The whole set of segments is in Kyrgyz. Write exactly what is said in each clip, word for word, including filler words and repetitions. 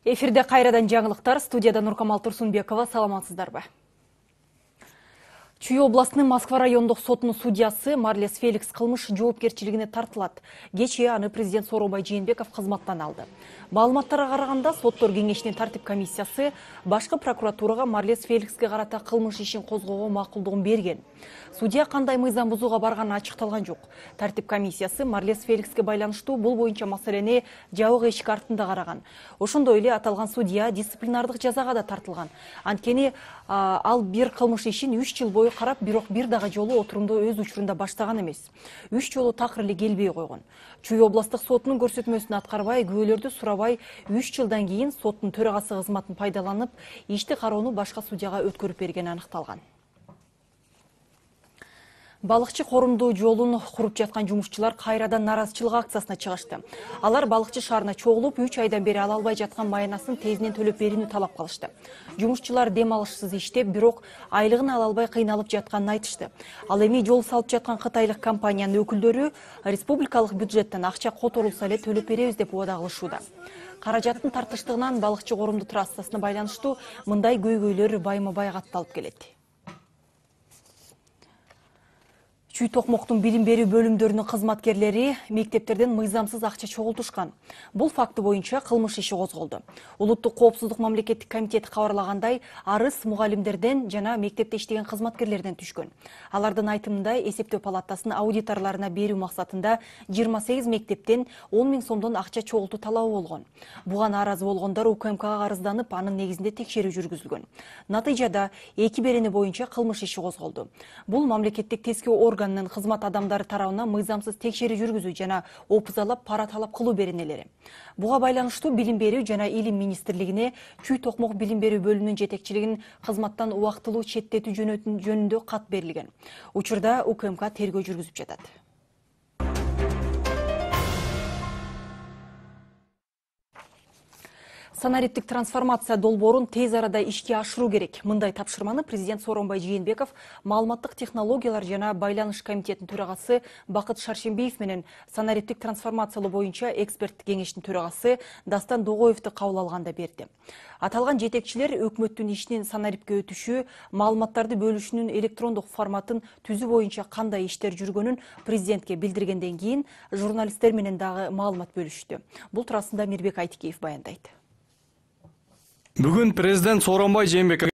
Эфирде кайрадан жаңылыктар, студияда Нуркамал Турсунбекова, саламатсыздарбы? Чүй областынын Москва райондук сотунун судьясы Марлес Феликс кылмыш жоопкерчилигине тартылат. Кечээ аны президент Сооронбай Жээнбеков кызматтан алды. Маалыматтарга караганда, соттор кеңешинин тартип комиссиясы башкы прокуратурага Марлес Феликске карата кылмыш ишин козгоого макулдугун берген. Судья кандай мыйзам бузууга барганы ачыкталган жок. Тартип комиссиясы Марлес Феликске байланыштуу бул боюнча маселени жабык эшик артында караган. Ошондой эле аталган судья дисциплинардык жазага да тартылган. Анткени ал бир кылмыш ишин үч жыл бою карап, бирок бир дагы жолу отурумду өз учурунда баштаган эмес. үч жолу такыр эле келбей койгон. Чүй областык сотунун көрсөтмөсүн аткарбай, күбөлөрдү сурабай, үч жылдан кийин соттун төрагасы кызматын пайдаланып, ишти кароону башка судьяга өткөрүп бергени аныкталган. Балыкчы корумдуу жолун куруп жаткан жумушчулар кайрадан наразычылык акциясына чыгышты. Алар балыкчы шаарына чогулуп, үч айдан бери ала албай жаткан майнасын тезинен төлөп берүүнү талап кылышты. Жумушчулар дем алышсыз иштеп, бирок айлыгын ала албай кыйналып жатканын айтышты. Ал эми жол салып жаткан кытайлык компаниянын өкүлдөрү республикалык бюджеттен акча которулса эле төлөп беребиз деп убада кылышууда. Каражаттын тартыштыгынан балыкчы корумдуу трассасына байланыштуу мындай көйгөйлөр байма-бай катталып келет. Чүй Токмоктун билим берүү бөлүмдөрүнүн кызматкерлери мектептерден мыйзамсыз акча чогултушкан. Бул факты боюнча кылмыш иши козголду. Улуттук коопсуздук мамлекеттик комитети кабарлагандай, арыз мугалимдерден жана мектепте иштеген кызматкерлерден түшкөн. Алардын айтымында эсептөө палатасынын аудиторлоруна берүү максатында жыйырма сегиз мектептен он миң сомдон акча чогултуу талабы болгон. Буга нааразы болгондор У К М Кга арызданып, анын негизинде текшерүү жүргүзүлгөн. Натыйжада эки берени боюнча кылмыш иши козголду. Бул мамлекеттик тескөө орган кызмат адамдары тарабынан мыйзамсыз текшерүү жүргүзүү жана опузалап пара талап кылуу беренелери. Буга байланыштуу билим берүү жана илим министрлигине Чүй Токмок билим берүү бөлүмүнүн жетекчилигин кызматтан убактылуу четтетүү жөнүндө кат берилген. Учурда У К М К тергөө жүргүзүп жатат. Санариптик трансформация долбоорун тез арада ишке ашыруу керек. Мындай тапшырманы президент Сооронбай Жээнбеков маалыматтык технологиялар жана байланыш комитетинин төрагасы Бакыт Шаршембиев менен санариптик трансформациялоо боюнча эксперттик кеңештин төрагасы Дастан Догоевду кабыл алганда берди. Аталган жетекчилер өкмөттүн ишинин санарипке өтүшү, маалыматтарды бөлүшүнүн электрондук форматын түзүү боюнча кандай иштер жүргөнүн президентке билдиргенден кийин журналисттер менен дагы маалымат бөлүштү. Бул туурасында Мирбек Айтикеев баяндайт. Бүгүн президент Сооронбай Жээнбеков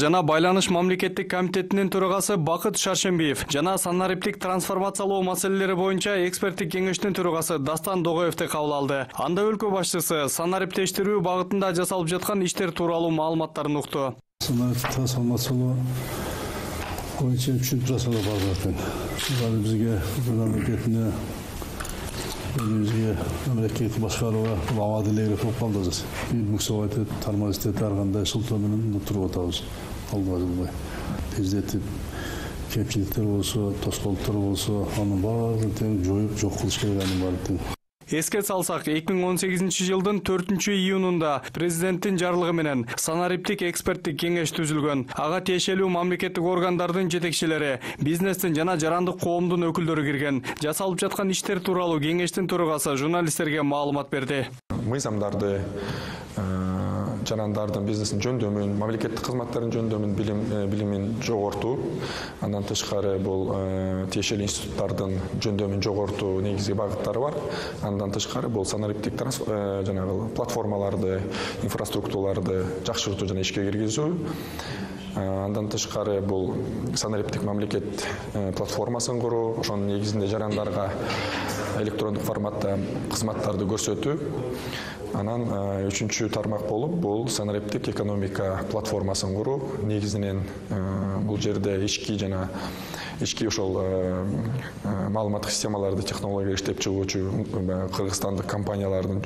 жана байланыш мамлекеттик комитетинин төрагасы Бакыт Шаршембиев жана санариптик трансформациялоо маселелери боюнча эксперттик кеңештин төрагасы Дастан Догоевду кабыл алды. Анда өлкө башчысы санариптештирүү багытында жасалып жаткан иштер тууралуу маалыматтарын укту. Санариптик трансформациялоо боюнча үчүнчү трансформациялоо бар экен. Бул бизге мамлекетине Өзүгө мамлекет башкарууга абадилегиле болуп калды азыр. Муксовайты тармазитет ар кандай шылтоо менен туруп атабыз. Алга жылбай. Тездетип, кемчиликтер болсо, тоскоолдуктар болсо, анын баарын тең жоюп, жок кылыш керек анын баарын. Эске салсак, эки миң он сегизинчи жылдын төртүнчү июнунда президенттин жарлыгы менен санариптик эксперттик кеңеш түзүлгөн. Ага тиешелүү мамлекеттик органдардын жетекчилери, бизнестин жана жарандык коомдун өкүлдөрү кирген. Жасалып жаткан иштер тууралуу кеңештин төрагасы журналисттерге маалымат берди. Мыйзамдарды, жарандардын бизнесин жөндөмүн, мамлекеттик кызматтардын жөндөмүн билим билимин жогортуу, андан тышкары бул тиешелүү институттардын жөндөмүн жогортуу негизги багыттары бар. Андан тышкары бул санариптик жанагы платформаларды, инфраструктураларды жакшыртуу жана ишке киргизүү. Андан тышкары бул санариптик мамлекет платформасын куруу, ошонун негизинде жарандарга электрондук форматта кызматтарды көрсөтүү. Анан үчүнчү тармак болуп бул санариптик экономика платформасын куруу. Негизинен бул жерде ички жана ички ошол маалыматтык системаларды технология иштеп чыгуучу кыргызстандык компаниялардын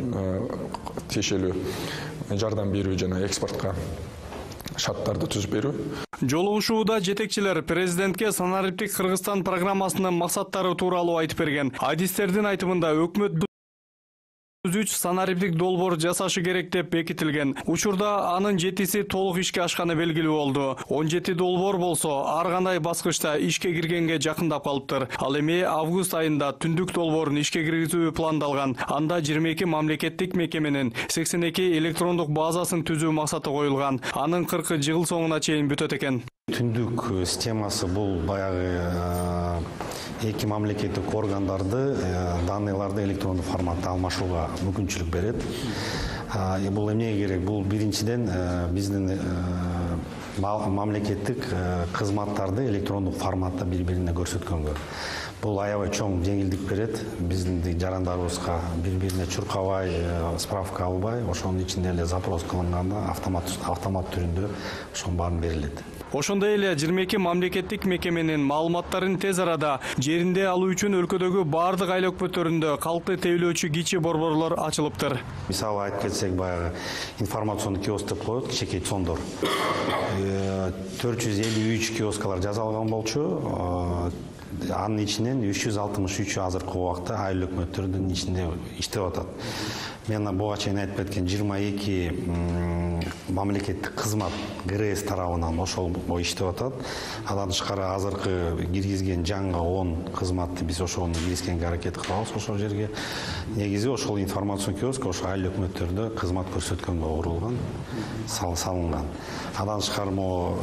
тиешелүү жардам берүү жана экспортко шарттарды түзүп берүү. Жолугушууда жетекчилер президентке санариптик Кыргызстан программасынын максаттары тууралуу айтып берген. Адистердин айтымында өкмөт үч санариптик долбоор жасашы керек деп бекитилген. Учурда анын жетиси толук ишке ашканы белгилүү болду. он жети долбоор болсо ар кандай баскычта ишке киргенге жакындап калыптыр. Ал эми август айында түндүк долбоорун ишке киргизүү пландалган. Анда жыйырма эки мамлекеттик мекеменин сексен эки электрондук базасын түзүү максаты коюлган. Анын кыркы жыл соңуна чейин бүтөт экен. Түндүк системасы бул баягы эки мамлекеттик органдарды данныйларды электрондук форматта алмашууга мүмкүнчүлүк берет. Бул эмнеге керек? Бул биринчиден биздин мамлекеттик кызматтарды электрондук форматта бири-бирине көрсөткөнгө. Бул аябай чоң жеңилдик берет. Биздин жарандарыбызга бири-бирине чуркабай, справка албай, ошонун ичинде эле запрос кылынганда автомат автомат түрүндө ошонун баарын берилет. Ошондой эле жыйырма эки мамлекеттик мекеменин маалыматтарын тез арада жеринде алуу үчүн өлкөдөгү бардык айыл өкмөттөрүндө калкты тейлөөчү кичи борборлор ачылыптыр. Мисалы айтып кетсек, баягы информационный киоск деп коет, кичинекей цондор. төрт жүз элүү үч киоскалар жасалган болчу. Анын ичинен үч жүз алтымыш үчү азыркы убакта айыл өкмөттөрдүн ичинде иштеп атат. Мен буга чейин айтып кеткен жыйырма эки мамлекеттик кызмат ГРС тарабынан ошол иштеп атат. Андан тышкары азыркы киргизген жаңы он кызматты биз ошону киргизгенге аракет кылабыз. Ошол жерге негизи ошол информацион киоск ошо айыл өкмөттөрдө кызмат көрсөткөнгө курулган, салынган. Андан тышкары могу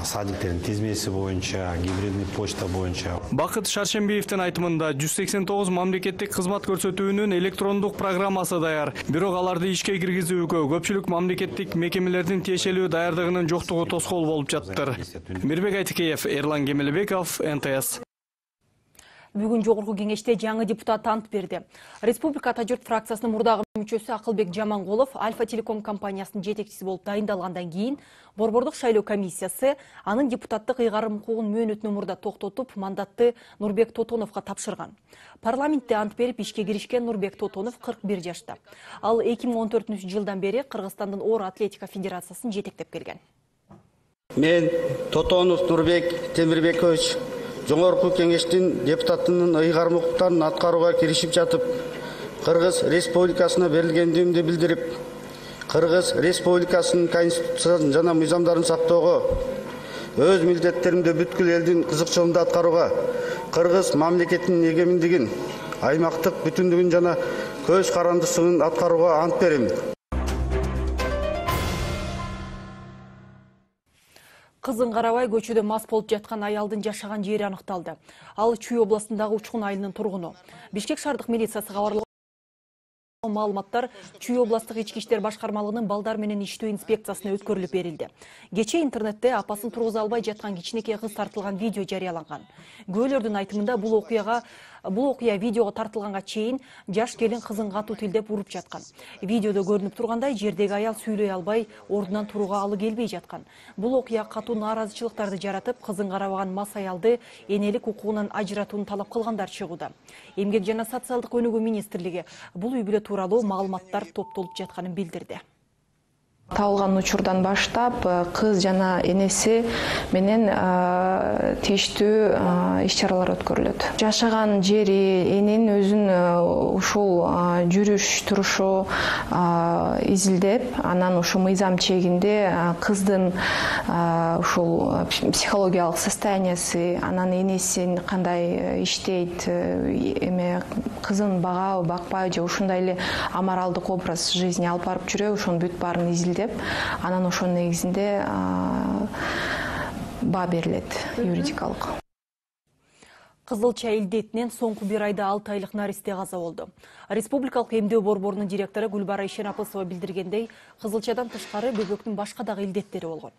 садиктердин тизмеси боюнча, гибридный почта боюнча. Бакыт Шаршембиевдин айтымында жүз сексен тогуз мамлекеттик кызмат көрсөтүүнүн электрондук программасы даяр. Бирок аларды ишке киргизүүгө көпчүлүк мамлекеттик мекемелердин тиешелүү даярдыгынын жоктугу тоскоол болуп жатыптыр. Мирбек Айтыкеев, Эрлан Кемелбеков, Н Т С. Бүгүн жогорку кеңеште жаңы депутат ант берди. Республика Ата журт фракциясынын мурдагы мүчөсү Акылбек Жаманголов Альфа Телеком компаниясынын жетекчиси болуп дайындалгандан кийин Борбордук шайлоо комиссиясы анын депутаттык ыйгарым укугун мөөнөтүнөн мурда токтотуп, мандатты Нурбек Тотоновго тапшырган. Парламентте ант берип ишке киришкен Нурбек Тотонов кырк бир жашта. Ал эки миң он төртүнчү жылдан бери Кыргызстандын оор атлетика федерациясын жетектеп келген. Мен Тотонов Нурбек Темирбекович Жогорку кеңештин депутатынын ыйгарым укуктарын аткарууга киришип жатып, Кыргыз Республикасына берилгендигимди билдирип, Кыргыз Республикасынын конституциясын жана мыйзамдарын сактоого, өз милдеттеримди бүткүл элдин кызыкчылыгында аткарууга, Кыргыз мамлекетинин эгеминдигин, аймактык бүтүндүгүн жана көз карандысынын аткарууга ант берем. Кызын карабай көчөдө мас болуп жаткан аялдын жашаган жери аныкталды. Ал Чүй областындагы Учкун айылынын тургуну. Бишкек шаардык милициясы кабарлаган маалыматтар Чүй областтык ички иштер башкармалыгынын балдар менен иштөө инспекциясына өткөрүлүп берилди. Кечээ интернетте апасын тургуза албай жаткан кичинекей кыз тартылган видео жарыяланган. Күбөлөрдүн айтымында бул окуяга Бул окуя видеого тартылганга чейин жаш келин кызын катуу тилдеп уруп жаткан. Видеодо көрүнүп тургандай жердеги аял сүйлөй албай, ордунан турууга алы келбей жаткан. Бул окуя катуу нааразычылыктарды жаратып, кызын карабаган мас аялды энелик укугунан ажыратууну талап кылгандар чыгууда. Эмгек жана социалдык өнүгүү министрлиги бул үй бүлө тууралуу маалыматтар топтолуп жатканын билдирди. Табылган учурдан баштап кыз жана энеси менен тийиштүү иш-чаралар өткөрүлөт. Жашаган жери, эненин өзүнүн ушул жүрүш турушу изилдеп, анан ушу мыйзам чегинде кыздын ушул психологиялык состояниясы, анан энесин кандай иштейт, эме кызын багабы, бакпайбы же ушундай эле аморалдык образ жизни алып барып жүрөбү, ошонун бүт баарын изилдеп, анан ошонун негизинде баа берилет юридикалык. Кызылча илдетинен соңку бир айда алты айлык наристе каза болду. Республикалык эмдөө борборунун директору Гүлбара Ишенапысова билдиргендей, кызылчадан тышкары бөбөктүн башка дагы илдеттери болгон.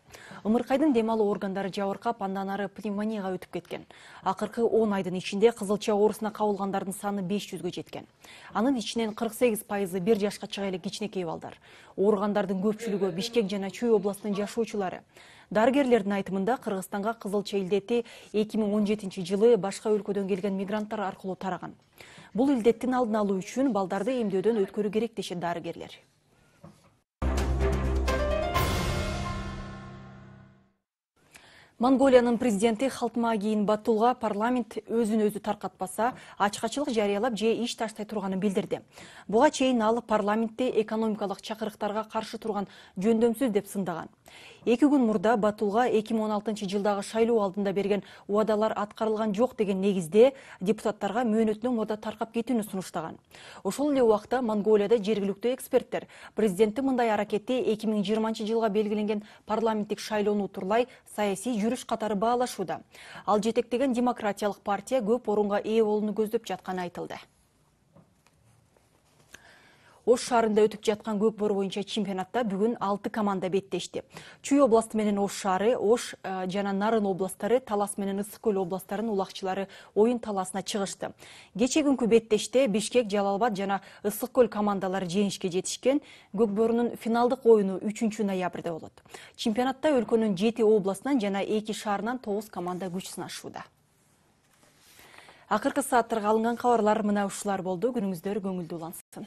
Ымыркайдын дем алуу органдары жабыркап, андан ары пневмонияга өтүп кеткен. Акыркы он айдын ичинде кызылча оорусуна кабылгандардын саны беш жүзгө жеткен. Анын ичинен кырк сегиз пайызы бир жашка чыга элек кичинекей балдар. Ооругандардын көпчүлүгү Бишкек жана Чүй областынын жашоочулары. Дарыгерлердин айтымында Кыргызстанга кызылча илдети эки миң он жетинчи жылы башка өлкөдөн келген мигранттар аркылуу тараган. Бул илдеттин алдын алуу үчүн балдарды эмдөөдөн өткөрүү керек дешет дарыгерлер. Монголиянын президенти Халтмаагийн Баттулга парламент өзүн өзү таркатпаса, ачкачылык жарыялап же иш таштай турганын билдирди. Буга чейин ал парламентте экономикалык чакырыктарга каршы турган жөндөмсүз деп сындаган. Эки күн мурда Баттулга эки миң он алтынчы жылдагы шайлоо алдында берген убадалар аткарылган жок деген негизде депутаттарга мөөнөтүнөн мурда таркап кетүүнү сунуштаган. Ошол эле убакта Монголияда жергиликтүү эксперттер президенттин мындай аракети эки миң жыйырманчы жылга белгиленген парламенттик шайлоону утурлай саясий жүрүш катары баалашууда. Ал жетектеген демократиялык партия көп орунга ээ болууну көздөп жатканы айтылды. Ош шаарында өтүп жаткан көк бору боюнча чемпионатта бүгүн алты команда беттешти. Чүй областы менен Ош шаары, Ош жана Нарын областары, Талас менен Ысык көл областарынын улакчылары оюн талаасына чыгышты. Кечээ күнкү беттеште Бишкек, Жалал-Абад жана Ысык көл командалары жеңишке жетишкен. Көк борунун финалдык оюну үчүнчү ноябрда болот. Чемпионатта өлкөнүн жети областынан жана эки шаарынан тогуз команда күч сынашууда. Акыркы сааттарга алынган кабарлар мына ушулар болду. Күнүңүздөр көңүлдүү улансын.